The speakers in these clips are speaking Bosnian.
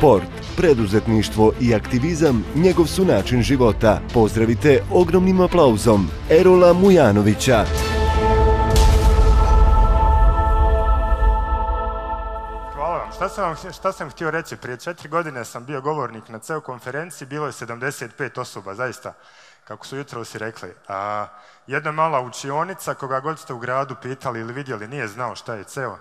Sport, preduzetništvo i aktivizam njegov su način života. Pozdravite ogromnim aplauzom Erola Mujanovića. Hvala vam. Šta sam htio reći? Prije 4 godine sam bio govornik na CEO konferenciji, bilo je 75 osoba, zaista, kako su jutro si rekli. Jedna mala učionica, koga god ste u gradu pitali ili vidjeli, nije znao šta je CEO.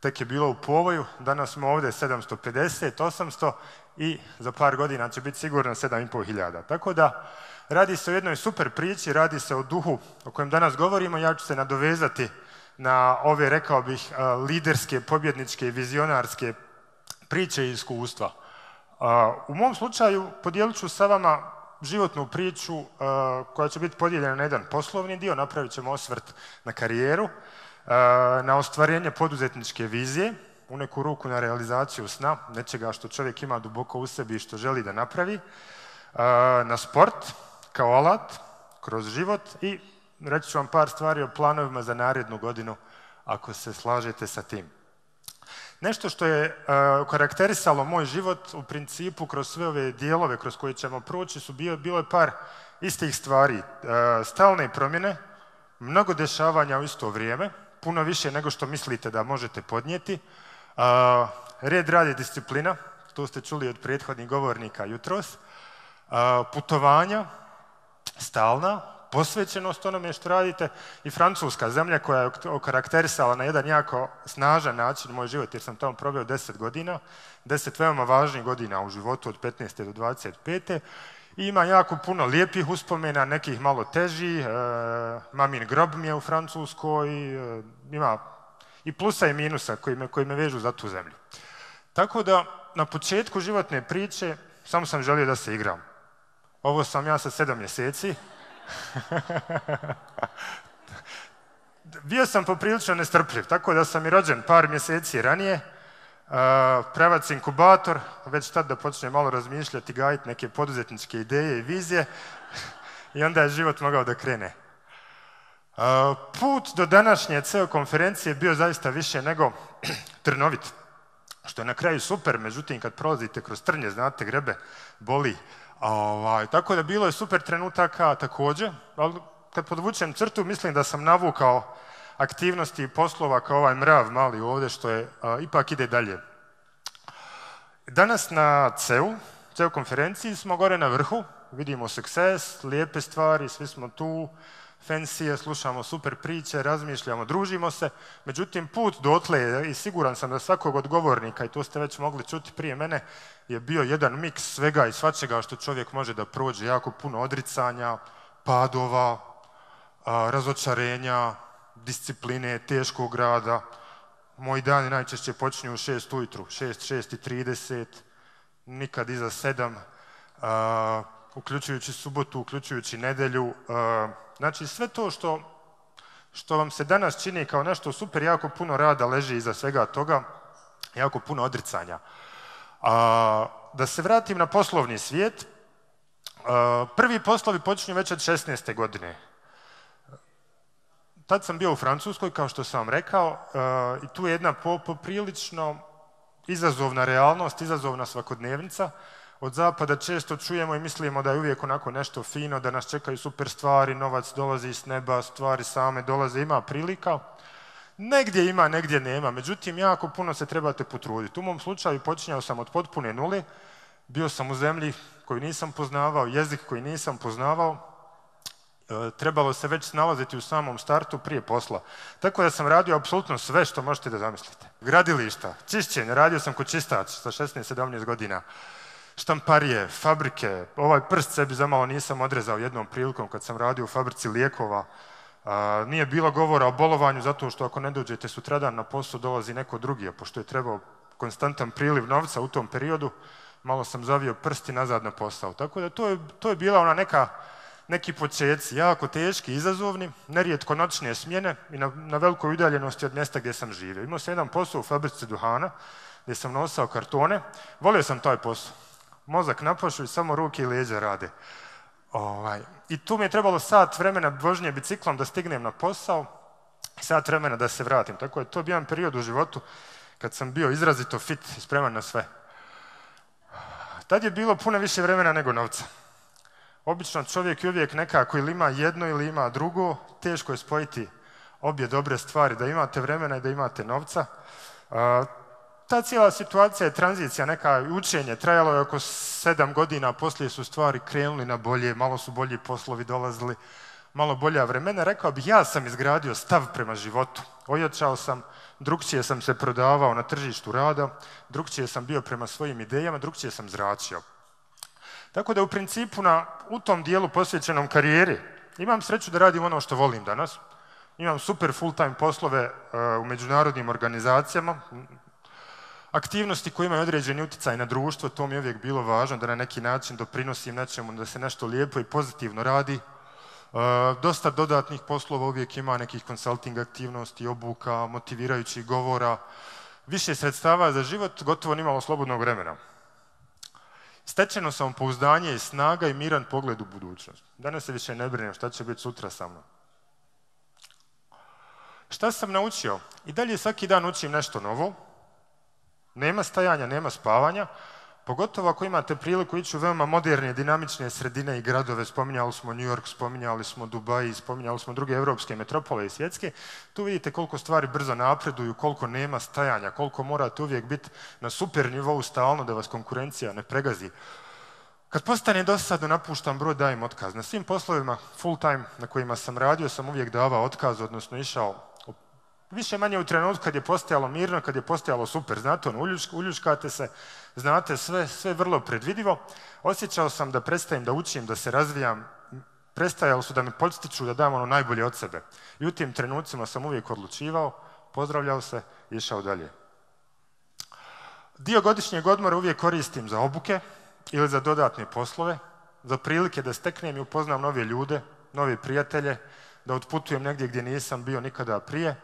Tek je bilo u povoju, danas smo ovdje 750, 800 i za par godina će biti sigurno 7.500. Tako da radi se o jednoj super priči, radi se o duhu o kojem danas govorimo. Ja ću se nadovezati na ove, rekao bih, liderske, pobjedničke i vizionarske priče i iskustva. U mom slučaju podijelit ću sa vama životnu priču koja će biti podijeljena na jedan poslovni dio, napravit ćemo osvrt na karijeru, na ostvarenje poduzetničke vizije, u neku ruku na realizaciju sna, nečega što čovjek ima duboko u sebi i što želi da napravi, na sport kao alat, kroz život i reći ću vam par stvari o planovima za narednu godinu, ako se slažete sa tim. Nešto što je karakterisalo moj život u principu kroz sve ove dijelove kroz koje ćemo proći su bilo je par istih stvari. Stalne promjene, mnogo dešavanja u isto vrijeme, puno više nego što mislite da možete podnijeti. Red, rad i disciplina, to ste čuli od prethodnih govornika jutros. Putovanja, stalna, posvećenost onome što radite i Francuska, zemlja koja je okarakterisala na jedan jako snažan način moj život, jer sam tamo proveo 10 godina, 10 veoma važnih godina u životu od 15. do 25. I ima jako puno lijepih uspomena, nekih malo težih, mamin grob mi je u Francuskoj, ima i plusa i minusa koji me vežu za tu zemlju. Tako da na početku životne priče samo sam želio da se igram. Ovo sam ja sa 7 mjeseci. Bio sam poprilično nestrpljiv, tako da sam i rođen par mjeseci ranije, pravac inkubator, već tad da počnem malo razmišljati, gajiti neke poduzetničke ideje i vizije i onda je život mogao da krene. Put do današnje CEO konferencije bio zaista više nego trnovit, što je na kraju super, međutim kad prolazite kroz trnje, znate, grebe, boli. Tako da bilo je super trenutaka također, ali kad podvučem crtu mislim da sam navukao aktivnosti i poslova kao ovaj mrav mali ovdje što je ipak ide dalje. Danas na CEO konferenciji smo gore na vrhu, vidimo success, lijepe stvari, svi smo tu, fancy, slušamo super priče, razmišljamo, družimo se, međutim put dotle i siguran sam da svakog od govornika, i to ste već mogli čuti prije mene, je bio jedan miks svega i svačega što čovjek može da prođe, jako puno odricanja, padova, razočarenja, discipline, teškog rada. Moji dani najčešće počinju u 6 ujutru, 6:30, nikad iza 7, uključujući subotu, uključujući nedjelju. Znači sve to što vam se danas čini kao nešto super, jako puno rada leži iza svega toga, jako puno odricanja. Da se vratim na poslovni svijet, prvi poslovi počinju već od 16. godine. Tad sam bio u Francuskoj, kao što sam vam rekao, i tu je jedna poprilično izazovna realnost, izazovna svakodnevnica. Od zapada često čujemo i mislimo da je uvijek onako nešto fino, da nas čekaju super stvari, novac dolazi s neba, stvari same dolaze, ima prilika. Negdje ima, negdje nema, međutim jako puno se trebate potruditi. U mom slučaju počinjao sam od potpune nule, bio sam u zemlji koju nisam poznavao, jezik koji nisam poznavao, trebalo se već snalaziti u samom startu prije posla. Tako da sam radio apsolutno sve što možete da zamislite. Gradilišta, čišćenje, radio sam kod čistač sa 16-17 godina. Štamparije, fabrike, ovaj prst sebi zamalo nisam odrezao jednom prilikom kad sam radio u fabrici lijekova. Nije bilo govora o bolovanju zato što ako ne dođete sutradan na posao dolazi neko drugi, a pošto je trebao konstantan priliv novca u tom periodu, malo sam zavio prst i nazad na posao. Tako da to je bila ona neki početci, jako teški, izazovni, nerijetko noćne smjene i na velikoj udaljenosti od mjesta gdje sam živio. Imao sam jedan posao u fabrici duhana gdje sam nosao kartone, volio sam taj posao. Mozak napašu i samo ruke i leđa rade. I tu mi je trebalo sat vremena vožnje biciklom da stignem na posao i sat vremena da se vratim. Tako je to bio jedan period u životu kad sam bio izrazito fit i spreman na sve. Tad je bilo puno više vremena nego novca. Obično čovjek je uvijek nekako ili ima jedno ili ima drugo, teško je spojiti obje dobre stvari, da imate vremena i da imate novca. Ta cijela situacija je tranzicija, neka učenje, trajalo je oko 7 godina, poslije su stvari krenuli na bolje, malo su bolji poslovi dolazili, malo bolja vremena. Rekao bih, ja sam izgradio stav prema životu. Ojačao sam, drugčije sam se prodavao na tržištu rada, drugčije sam bio prema svojim idejama, drugčije sam zračio. Tako da u principu u tom dijelu posvećenom karijeri imam sreću da radim ono što volim danas. Imam super full-time poslove u međunarodnim organizacijama, aktivnosti koje imaju određeni utjecaj na društvo, to mi je uvijek bilo važno, da na neki način doprinosim nečemu, da se nešto lijepo i pozitivno radi. Dosta dodatnih poslova uvijek ima, nekih consulting aktivnosti, obuka, motivirajućih govora, više sredstava za život, gotovo nimalo slobodnog vremena. Stečeno samopouzdanje i snaga i miran pogled u budućnost. Danas se više ne brinem šta će biti sutra sa mnom. Šta sam naučio? I dalje svaki dan učim nešto novo. Nema stajanja, nema spavanja. Pogotovo ako imate priliku ići u veoma moderne, dinamične sredine i gradove. Spominjali smo New York, spominjali smo Dubai, spominjali smo druge evropske metropole i svjetske. Tu vidite koliko stvari brzo napreduju, koliko nema stajanja, koliko morate uvijek biti na super nivou stalno da vas konkurencija ne pregazi. Kad postane dosadno, napuštam brod, dajem otkaz. Na svim poslovima full time na kojima sam radio sam uvijek davao otkaz, odnosno išao više manje u trenutku kad je postajalo mirno, kad je postajalo super. Znate, uljuškate se, znate sve vrlo predvidivo. Osjećao sam da prestajem da učim, da se razvijam. Prestajalo su da me podstiču da dam ono najbolje od sebe. I u tim trenucima sam uvijek odlučivao, pozdravljao se i išao dalje. Dio godišnjeg odmora uvijek koristim za obuke ili za dodatne poslove, za prilike da steknem i upoznam nove ljude, nove prijatelje, da otputujem negdje gdje nisam bio nikada prije.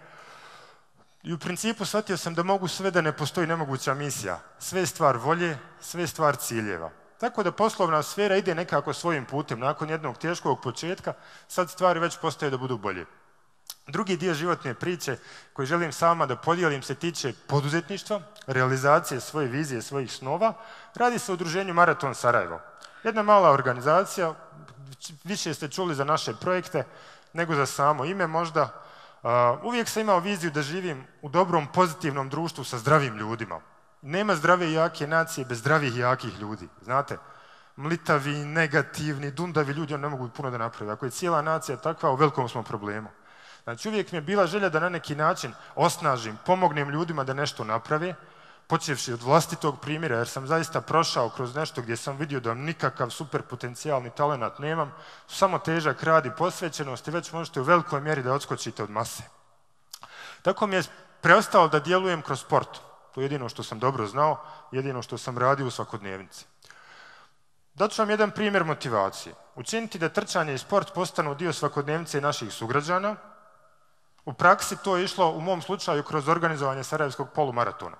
I u principu shvatio sam da mogu sve, da ne postoji nemoguća misija. Sve je stvar volje, sve je stvar ciljeva. Tako da poslovna sfera ide nekako svojim putem. Nakon jednog teškog početka, sad stvari već postaju da budu bolje. Drugi dio životne priče koji želim sama da podijelim se tiče poduzetništva, realizacije svoje vizije, svojih snova. Radi se o udruženju Maraton Sarajevo. Jedna mala organizacija, više ste čuli za naše projekte nego za samo ime možda. Uvijek sam imao viziju da živim u dobrom, pozitivnom društvu sa zdravim ljudima. Nema zdrave i jake nacije bez zdravih i jakih ljudi. Znate, mlitavi, negativni, dundavi ljudi, oni ne mogu puno da naprave. Ako je cijela nacija takva, u velikom smo problemu. Znači, uvijek mi je bila želja da na neki način osnažim, pomognem ljudima da nešto naprave, počevši od vlastitog primjera, jer sam zaista prošao kroz nešto gdje sam vidio da nikakav super potencijalni talenat nemam, samo težak rad i posvećenost i već možete u velikoj mjeri da odskočite od mase. Tako mi je preostalo da djelujem kroz sport. To je jedino što sam dobro znao, jedino što sam radio u svakodnevnici. Daću vam jedan primjer motivacije. Učiniti da trčanje i sport postanu dio svakodnevnice naših sugrađana. U praksi to je išlo u mom slučaju kroz organizovanje Sarajevskog polumaratona.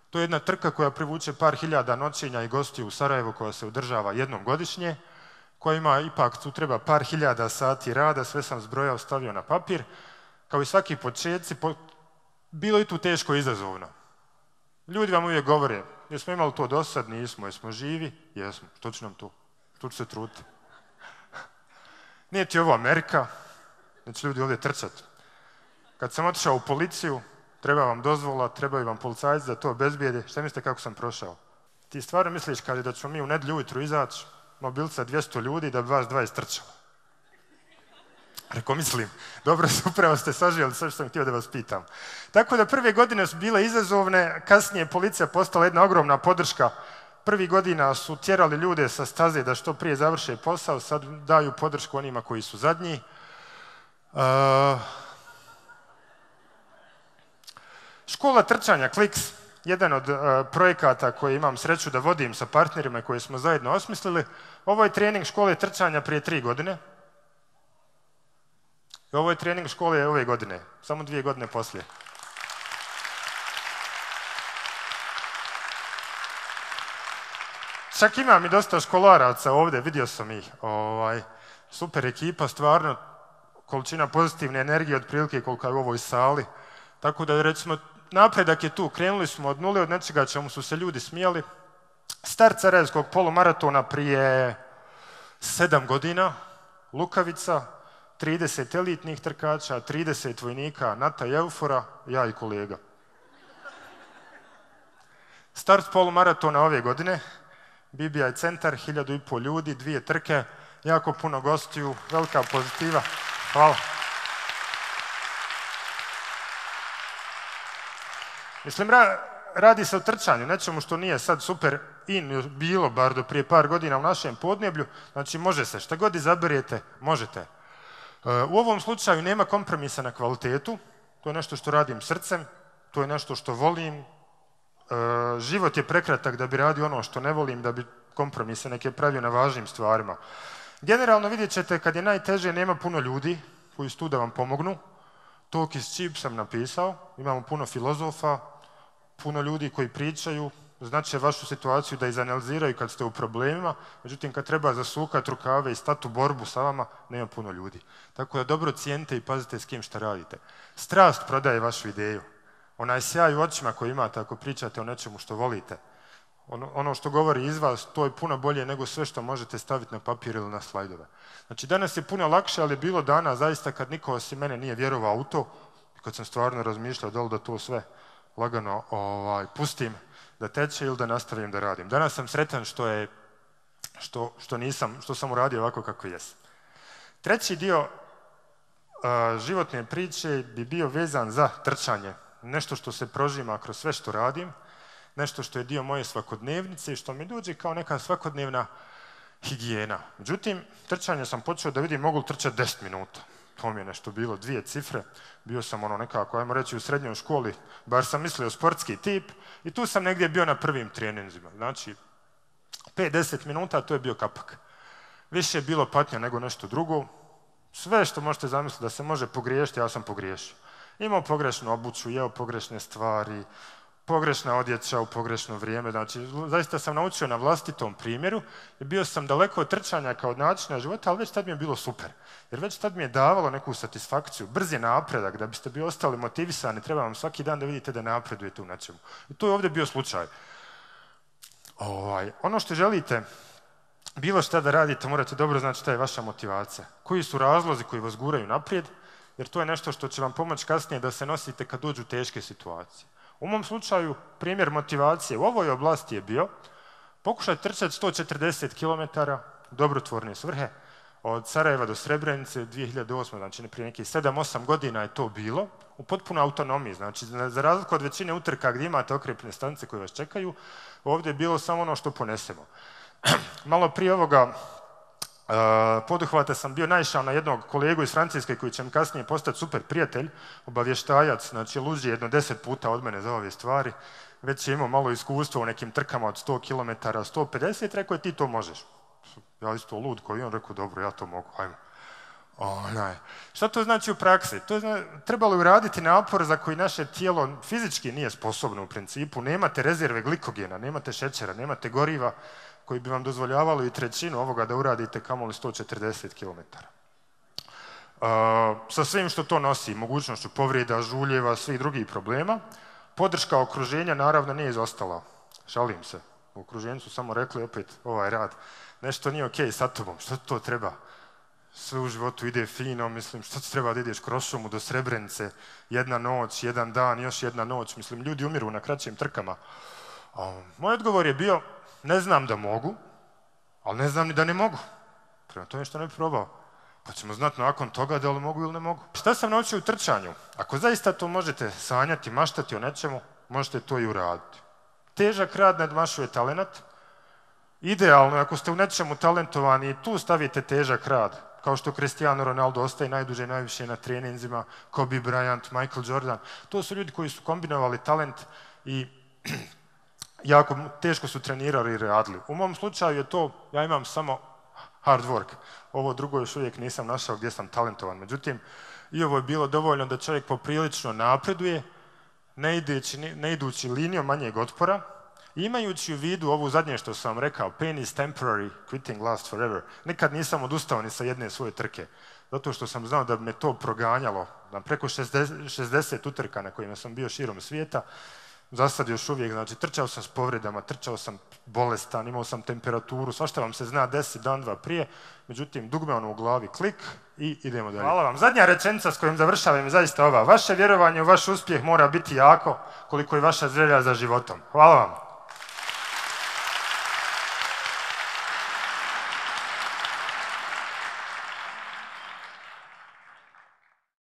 To je jedna trka koja privuče par hiljada noćenja i gostiju u Sarajevu koja se održava jednom godišnje, koja ima ipak, tu treba par hiljada sati rada, sve sam zbrojao, stavio na papir. Kao i svaki početci, bilo je tu teško i izazovno. Ljudi vam uvijek govore, jesmo imali to do sad, nismo, jesmo živi, jesmo, što će nam to, što će se truditi. Nije ti ovo Amerika, neće ljudi ovdje trčati. Kad sam otišao u policiju, treba vam dozvola, trebaju vam policajci da to obezbijede. Šta mislite kako sam prošao? Ti stvarno misliš kad je da ćemo mi u nedjelju ujutru izaći, mobilca 200 ljudi da bi vas 20 trčalo? Rekao, mislim, dobro, upravo ste saživjeli sve što sam htio da vas pitam. Tako da prve godine su bile izazovne, kasnije policija postala jedna ogromna podrška. Prvih godina su tjerali ljude sa staze da što prije završe posao, sad daju podršku onima koji su zadnji. Škola trčanja, Kliks, jedan od projekata koje imam sreću da vodim sa partnerima koje smo zajedno osmislili. Ovo je trening škole trčanja prije 3 godine. I ovo je trening škole ove godine, samo 2 godine poslije. Čak imam i dosta školaraca ovdje, vidio sam ih. Super ekipa, stvarno, količina pozitivne energije otprilike koliko je u ovoj sali. Tako da, recimo, napredak je tu. Krenuli smo od nule, od nečega čemu su se ljudi smijali. Start Sarajevskog polumaratona prije 7 godina, Lukavica, 30 elitnih trkača, 30 vojnika, Nata i Eufora, ja i kolega. Start polumaratona ove godine, BBI centar, 1500 ljudi, 2 trke, jako puno gostiju, velika pozitiva. Hvala. Mislim, radi se o trčanju, nečemu što nije sad super bilo, bar do prije par godina u našem podneblju, znači može se, šta god izaberete, možete. U ovom slučaju nema kompromisa na kvalitetu, to je nešto što radim srcem, to je nešto što volim, život je prekratak da bi radio ono što ne volim, da bi kompromise neke pravio na važnim stvarima. Generalno vidjet ćete kad je najteže nema puno ljudi koji su tu da vam pomognu, Talk is cheap sam napisao, imamo puno filozofa, puno ljudi koji pričaju, znači vašu situaciju da izanaliziraju kad ste u problemima, međutim kad treba zasukati rukave i stati u borbu sa vama, nema puno ljudi. Tako da dobro cijenite i pazite s kim šta radite. Strast prodaje vašu ideju. Onaj sjaj u očima koji imate ako pričate o nečemu što volite. Ono što govori iz vas, to je puno bolje nego sve što možete staviti na papir ili na slajdove. Znači danas je puno lakše, ali je bilo dana zaista kad niko osim mene nije vjerovao u to, kad sam stvarno razmišljao da li da to sve lagano pustim da teče ili da nastavim da radim. Danas sam sretan što sam uradio ovako kako jesam. Treći dio životne priče bi bio vezan za trčanje. Nešto što se prožima kroz sve što radim, nešto što je dio moje svakodnevnice i što mi dođe kao neka svakodnevna higijena. Međutim, trčanje sam počeo da vidim mogu trčati 10 minuta. To mi je nešto bilo, 2 cifre. Bio sam nekako, ajmo reći, u srednjoj školi, bar sam mislio sportski tip i tu sam negdje bio na prvim treninzima. Znači, 5-10 minuta, to je bio kapak. Više je bilo patnja nego nešto drugo. Sve što možete zamisliti da se može pogriješiti, ja sam pogriješio. Imao pogrešnu obuću, jeo pogrešne stvari, pogrešna odjeća u pogrešno vrijeme. Znači, zaista sam naučio na vlastitom primjeru i bio sam daleko od trčanja kao od načina života, ali već tad mi je bilo super. Jer već tad mi je davalo neku satisfakciju, brz je napredak, da biste bili ostali motivisani, treba vam svaki dan da vidite da napredujete u nečemu. I to je ovdje bio slučaj. Ono što želite, bilo šta da radite, morate dobro znati šta je vaša motivacija. Koji su razlozi koji vas guraju naprijed, jer to je nešto što će vam pomoći kasnije da se nosite kad dođu teške situacije. U mom slučaju, primjer motivacije u ovoj oblasti je bio pokušati trčati 140 km dobrotvorne svrhe od Sarajeva do Srebrenice 2008. Znači prije nekih 7-8 godina je to bilo u potpunoj autonomiji. Znači za razliku od većine utrka gdje imate okrepne stanice koje vas čekaju, ovdje je bilo samo ono što ponesemo. Malo prije ovoga poduhvata sam bio naišao na jednog kolegu iz Francuske koji će mi kasnije postati super prijatelj, obavještajac, znači luđi jedno 10 puta od mene za ove stvari, već je imao malo iskustva u nekim trkama od 100 km, 150, rekao je ti to možeš. Ja isto lud koji on rekao dobro, ja to mogu, ajmo. Šta to znači u praksi? Trebalo je uraditi napor za koji naše tijelo fizički nije sposobno u principu, nemate rezerve glikogena, nemate šećera, nemate goriva, koji bi vam dozvoljavali i trećinu ovoga da uradite kamoli 140 km. Sa svim što to nosi, mogućnošću povrijeda, žuljeva, svih drugih problema, podrška okruženja naravno nije izostala. Šalim se. U okruženju su samo rekli opet ovaj rad. Nešto nije okej sa tobom, što to treba? Sve u životu ide fino, mislim, što ti treba da ideš kroz šumu do Srebrenice, jedna noć, jedan dan, još jedna noć, mislim, ljudi umiru na kraćim trkama. Moj odgovor je bio, ne znam da mogu, ali ne znam ni da ne mogu. Prema tome što ne bi probao. Pa ćemo znati nakon toga da li mogu ili ne mogu. Šta sam naučio u trčanju? Ako zaista to možete sanjati, maštati o nečemu, možete to i uraditi. Težak rad nadmašuje talenat. Idealno je ako ste u nečemu talentovani i tu stavite težak rad, kao što Cristiano Ronaldo ostaje najduže i najviše na treninzima, Kobe Bryant, Michael Jordan. To su ljudi koji su kombinovali talent i jako teško su trenirali i radili. U mom slučaju je to, ja imam samo hard work. Ovo drugo još uvijek nisam našao gdje sam talentovan. Međutim, i ovo je bilo dovoljno da čovjek poprilično napreduje, ne idući linijom manjeg otpora, imajući u vidu ovu zadnje što sam vam rekao, pain is temporary, quitting lasts forever. Nikad nisam odustao ni sa jedne svoje trke, zato što sam znao da bi me to proganjalo na preko 60 utrka na kojima sam bio širom svijeta. za sad još uvijek, znači trčao sam s povredama, trčao sam bolestan, imao sam temperaturu, svašta vam se zna 10 dan, 2 prije, međutim, dugme ono u glavi, klik i idemo dalje. Hvala vam. Zadnja rečenica s kojom završavam je zaista ova. Vaše vjerovanje u vaš uspjeh mora biti jako koliko je vaša želja za životom. Hvala vam.